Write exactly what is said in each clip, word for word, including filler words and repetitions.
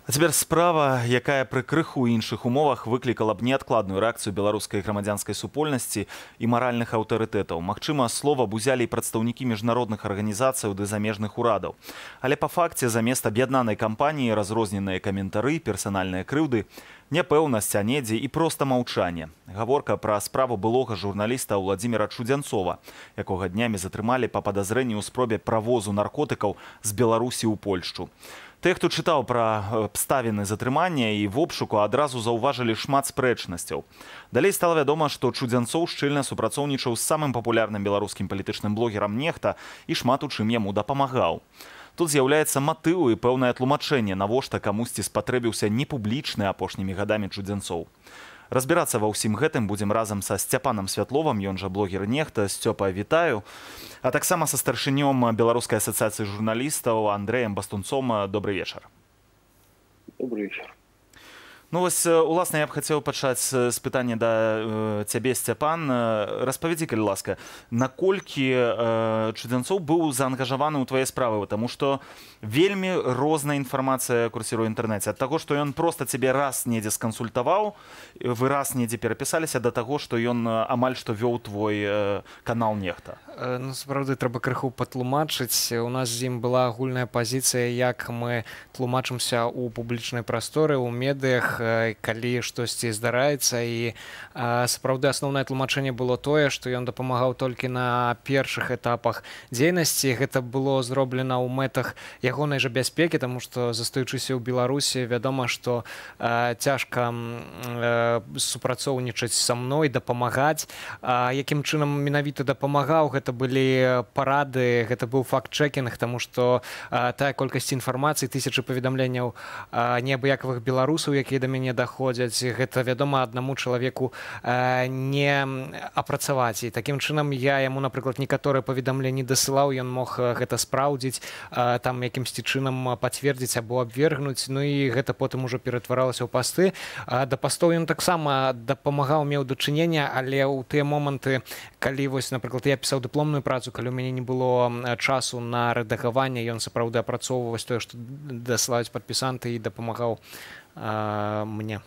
А цяпер справа, якая пры крыху іншых умовах выклікала б неадкладную рэакцыю беларускай грамадзянскай супольнасці і маральных аўтарытэтаў. Магчыма, слова б узялі і прадстаўнікі міжнародных арганізацыяў ды замежных урадаў. Але па факце замест аб'яднанай кампаніі разрозненыя каментары, персанальныя крыўды, няпэўнасць, а недзе і проста маўчанне. Гаворка пра справу былога журналіста Владзіміра Чудзянцова, якога днямі затрымалі па падазрэнні ў спробе правозу наркотыкаў з Беларусі ў Польшчу. Тыя, хто чытаў пра абставіны затрымання і в обшуку, адразу заўважылі шмат спрэчнасцяў. Далей стала вядома, што Чудзянцоў шчыльна супрацоўнічаў з самым папулярным беларускім палітычным блогерам Нехта і шмат у чым яму дапамагаў. Тут з'яўляецца матыў і пэўнае тлумачэнне, навошта камусьці спатрэбіўся непублічны апошнімі гадамі Чудзянцоў. Разбірацца ва ўсім гэтым будзем разам са Сцяпанам Святловым, ён жа блогер Нехта. Сцёпа, вітаю. А таксама са старшынём Беларускай асацыяцыі журналістаў Андрэем Бастунцом. Добрый вечар. Добрый вечар. Ну вось, уласна, я б хацеў пачаць з пытання да э, цябе, Сцяпан. Распавядзі, калі ласка, наколькі э, Чудзянцоў быў заангажаваны ў твае справы, таму што вельмі розная інфармацыя курсіруе ў інтэрнэце. Ад таго, што ён проста цябе раз недзе скансультаваў, вы раз недзе перапісаліся, да таго, што ён амаль што вёў твой э, канал Нехта. Ну, сапраўды, трэба крыху патлумачыць. У нас з ім была агульная пазіцыя, як мы тлумачымся ў публічнай прасторы, ў медыях, калі штосьці здараецца. І сапраўды асноўнае тлумачэнне было тое, што ён дапамагаў толькі на першых этапах дзейнасці. Гэта было зроблена ў мэтах ягонай жа бяспекі, таму што, застаючыся ў Беларусі, вядома, што цяжка супрацоўнічаць са мной, дапамагаць. Якім чынам менавіта дапамагаў, гэта былі парады, гэта быў факт-чэкінг, таму што тая колькасць інфармацыі, тысячы паведамленняў неабыякавых беларусаў, якія да мяне даходзяць, гэта, вядома, аднаму чалавеку не апрацаваць. І такім чынам я яму, напрыклад, некаторыя паведамленні дасылаў, ён мог гэта спраўдзіць, там якімсьці чынам пацвердзіць або абвергнуць, ну і гэта потым ужо ператваралася ў пасты. Да пастоў ён таксама дапамагаў, меў дачынення, але ў тыя моманты, калі, вось, напрыклад, я пісаў дыпломную працу, калі ў мяне не было часу на рэдагаванне, ён сапраўды апрацоўваў тое, што дасылаюць падпісанты, і дапамагаў а, мне.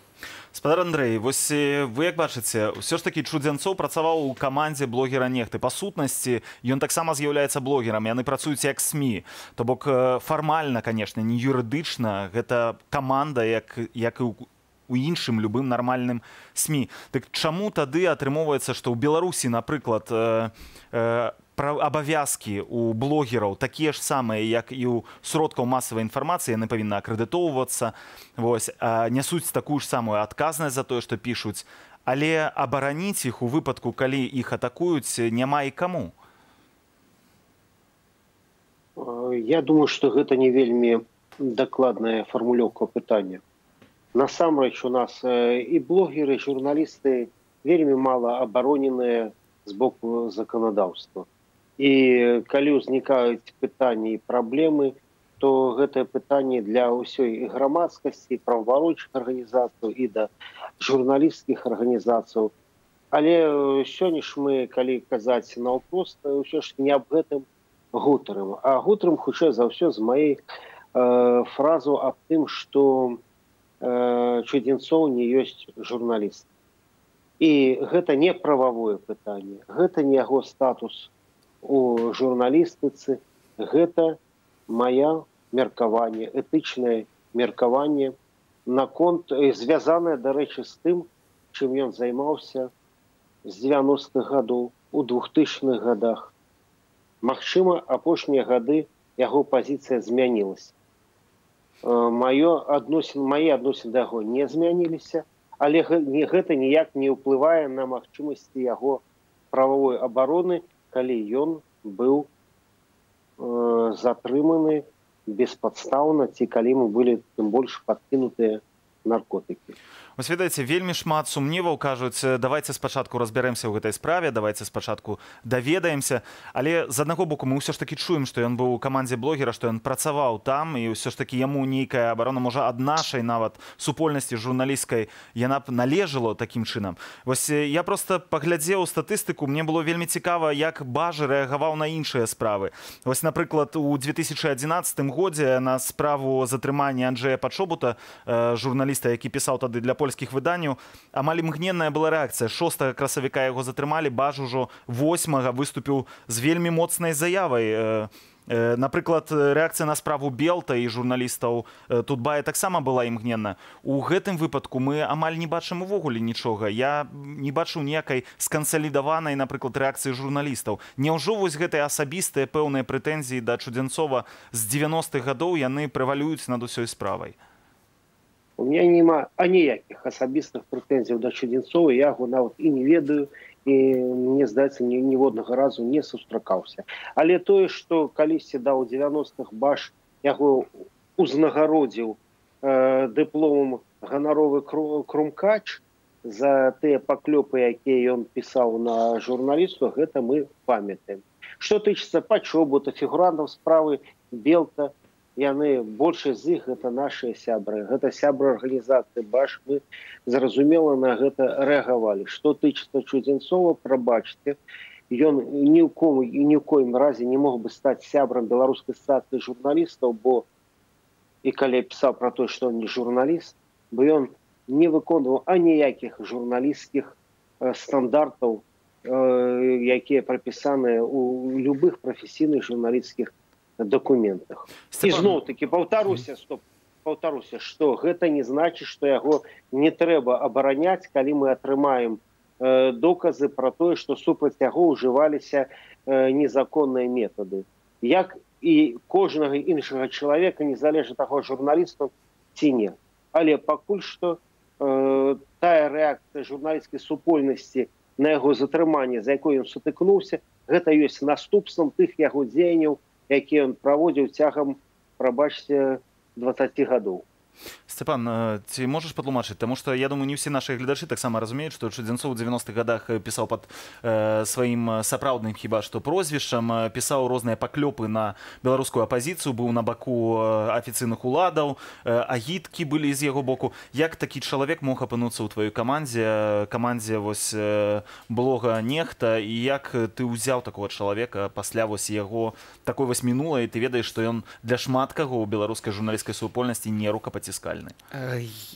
Спадар Андрэй, вось вы як бачыце, ўсё ж такі Чудзянцоў працаваў у камандзе блогера Нехты. Па сутнасці, ён таксама з'яўляецца блогерам, яны працуюць як СМІ. То бок фармальна, канешне, не юрыдычна, гэта каманда, як, як і ў у іншым любым нармальным СМІ. Так чаму тады атрымоўваецца, што ў Беларусі, напрыклад, э, э, абавязкі у блогераў такія ж самыя, як і ў сродкаў масавай інфармацыі, яны павінны акрэдытоўвацца, вось, а нясуць такую ж самую адказнасць за тое, што пішуць, але абараніць іх у выпадку, калі іх атакуюць, няма і каму? Я думаю, што гэта не вельмі дакладная фармулёўка пытання. Насамрэч, у нас і блогеры, і журналісты вельмі мала абароненыя з боку заканадаўства. І калі ўзнікаюць пытанні і праблемы, то гэтае пытанне для ўсёй грамадскасці, праваабарончых арганізацый і да журналісцкіх арганізацый. Але сёння ж мы, калі казаць наўпрост, ўсё ж не аб гэтым гутарым. А гутарым, хутчэй за ўсё, з маёй э, фразу аб тым, што Чудзянцоў не ёсць журналіст. І гэта не прававое пытанне, гэта не яго статус у журналістыцы, гэта мая меркаванне, этычнае меркаванне наконт, звязанае, дарэчы, з тым, чым ён займаўся з дзевяностых гадоў, у двухтысячных гадах. Магчыма, апошнія гады яго пазіцыя змянілася. Маё адносін, мае адносіны да яго не змяніліся, але гэта ніяк не ўплывае на магчымасці яго прававой абароны, калі ён быў э, затрыманы беспадстаўна, ці калі мы былі тым больш падкінутыя наркотыкі. Вось ведаеце, вельмі шмат сумневаў кажуць, давайте спачатку разбярэмся ў гэтай справе, давайте спачатку даведаемся, але з аднаго боку мы ўсё ж такі чуем, што ён быў у камандзе блогера, што ён працаваў там і ўсё ж такі яму нейкая абарона, можа, ад нашай нават супольнасці журналісцкай яна б належала такім чынам. Вось я проста паглядзеў статыстыку, мне было вельмі цікава, як Бажы рэагаваў на іншыя справы. Вось, напрыклад, у две тысячы адзінаццатым годзе на справу затрымання Анджэя Пачобута, журналіста, які пісаў тады для польскіх выданняў, амаль імгненная была рэакцыя. шостага красавіка яго затрымалі, Баж ужо восьмага выступіў з вельмі моцнай заявай. Напрыклад, рэакцыя на справу Белта і журналістаў Тутбая таксама была імгненна. У гэтым выпадку мы амаль не бачым увогуле нічога. Я не бачу ніякай скансалідаванай, напрыклад, рэакцыі журналістаў. Няўжо вось гэтыя асабістыя пэўныя прэтэнзіі да Чудзенцова з дзевяностых гадоў яны прэвалююць над усёй справай? У меня нема аніякіх асабістых прэтэнзіяў да Чудзенцова, я яго нават і не ведаю, і мне здаецца, ні, ніводнага разу не сустракаўся. Але тое, што калісьці да ў дзевяностых Баш яго узнагародзіў э, дыпломам ганаровы крумкач за тыя паклёпы, якія ён пісаў на журналісту, гэта мы памятаем. Што тычыцца Пачобута, фігурантаў справы Белта, яны, большасць з іх, гэта нашыя сябры, гэта сябры арганізацыі Баш, мы зразумела на гэта рэагавалі. Што тычыцца Чудзенцова, прабачце, ён ні ў кому і ні ў коім разе не мог бы стаць сябрам беларускай асацыяцыі журналістаў, бо і калі я пісаў пра тое, што ён не журналіст, бо ён не выконваў аніякіх журналісцкіх э, стандартаў, э, якія прапісаныя ў любых прафесійных журналісцкіх документах. Степан... І зноў-таки паўтаруся, стоп, паўтаруся, што гэта не значыць, што яго не трэба абараняць, калі мы атрымаем э, доказы пра тое, што супраць яго ўжываліся э, незаконныя метады. Як і кожнага іншага чалавека, незалежна таго, журналістаў ці не. Але пакуль што э, тая рэакцыя журналісцкай супольнасці на яго затрыманне, за якой ён сутыкнуўся, гэта ёсць наступствам тых яго дзеянняў, які ён праводзіў цягам, прабачце, дваццаці гадоў. Степан, ці можаш патлумачыць? Таму што, я думаю, не ўсе нашы гледачы таксама разумеюць, што Чудзенцоў у дзевяностых гадах пісаў пад э, сваім сапраўдным хіба што прозвішчам, пісаў розныя паклёпы на беларускую апазіцыю, быў на баку афіцыйных уладаў, э, агіткі былі з яго боку. Як такі чалавек мог апынуцца ў тваёй камандзе, камандзе вось э, блога Нехта, і як ты ўзяў такого чалавека пасля вось яго такой вось мінулай, ты ведаеш, што ён для шмат каго ў беларускай журналісцкай супольнасці не рукапаціскальны?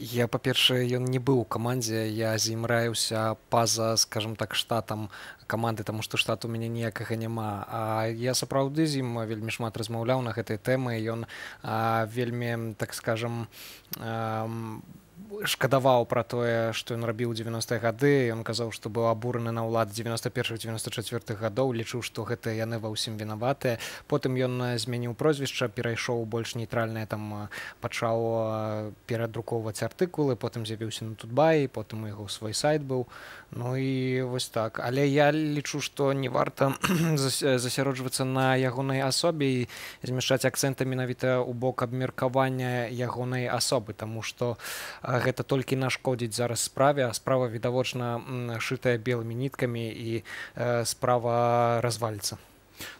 Я, па-першае, ён не быў у камандзе, я з ім раіўся па-за, скажем так, штатам каманды, таму што штату у мяне ніякага няма. А я сапраўды з ім вельмі шмат размаўляў на гэтай тэмы, ён а, вельмі, так скажем, а, шкадаваў пра тое, што ён рабіў у дзевяностыя гады. Ён казаў, што быў абураны на ўлад дзевяноста першых дзевяноста чацвёртых гадоў, лічыў, што гэта яны ва ўсім вінаватыя. Потым ён змяніў прозвішча, перайшоў больш нейтральнае, там пачаў перадрукоўваць артыкулы, потым з'явіўся на Тутбаі, потым у яго свой сайт быў. Ну і вось так. Але я лічу, што не варта засяроджвацца на ягонай асобе і змяшчаць акцэнты менавіта ў бок абмеркавання ягонай асобы, таму што гэта толькі нашкодзіць зараз справе, а справа відавочна шытая белымі ніткамі і э, справа разваліцца.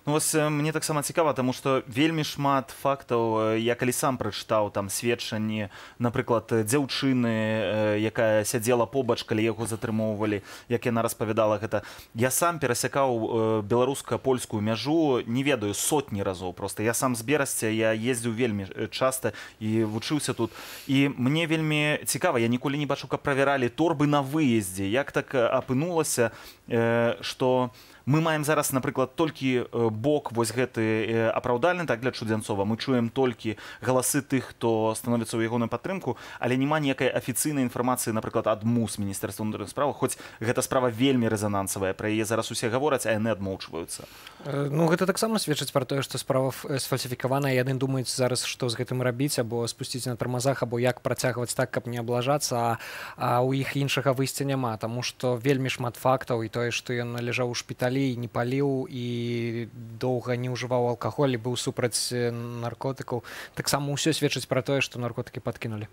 Ну, вось мне таксама цікава, таму што вельмі шмат фактаў, я калі сам прачытаў там сведчанні, напрыклад, дзяўчыны, якая сядзела побач, калі яго затрымоўвалі, як яна распавядала гэта. Я сам перасякаў беларуска-польскую мяжу, не ведаю, сотні разоў проста. Я сам з Берасця, я ездзіў вельмі часта і вучыўся тут. І мне вельмі цікава, я ніколі не бачу, каб правяралі торбы на выездзе. Як так апынулася, што мы маем зараз, напрыклад, толькі бок вось гэты апраўдальны, так, для Чудзенцова. Мы чуем толькі галасы тых, хто становіцца ў ягоную падтрымку, але няма ніякай афіцыйнай інфармацыі, напрыклад, ад МУС, Міністэрства ўнутраных спраў, хоць гэта справа вельмі рэзанансавая, пра яе зараз усе гавораць, а яны адмоўчваюцца. Ну, гэта таксама сведчыць пра тое, што справа сфальсіфікаваная, яны думаюць зараз, што з гэтым рабіць, або спусціць на тармазах, або як працягваць так, каб не аблажацца, а, а ў іх іншага выйсця няма, таму што вельмі шмат фактаў, і тое, што ён ляжаў у шпіталі, не паліў і доўга не ўжываў алкаголь і быў супраць наркотыкаў. Таксама ўсё сведчыць пра тое, што наркотыкі падкінулі.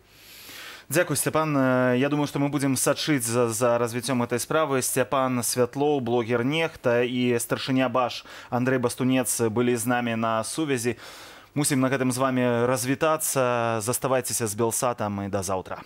Дзякуй, Сцяпан. Я думаю, што мы будзем сачыць за, за развіццём гэтай справы. Сцяпан Святлоў, блогер Нехта і старшыня Баш Андрэй Бастунец былі з намі на сувязі. Мусім на гэтым з вами развітацца. Заставайцеся з Белсатам і да заўтра.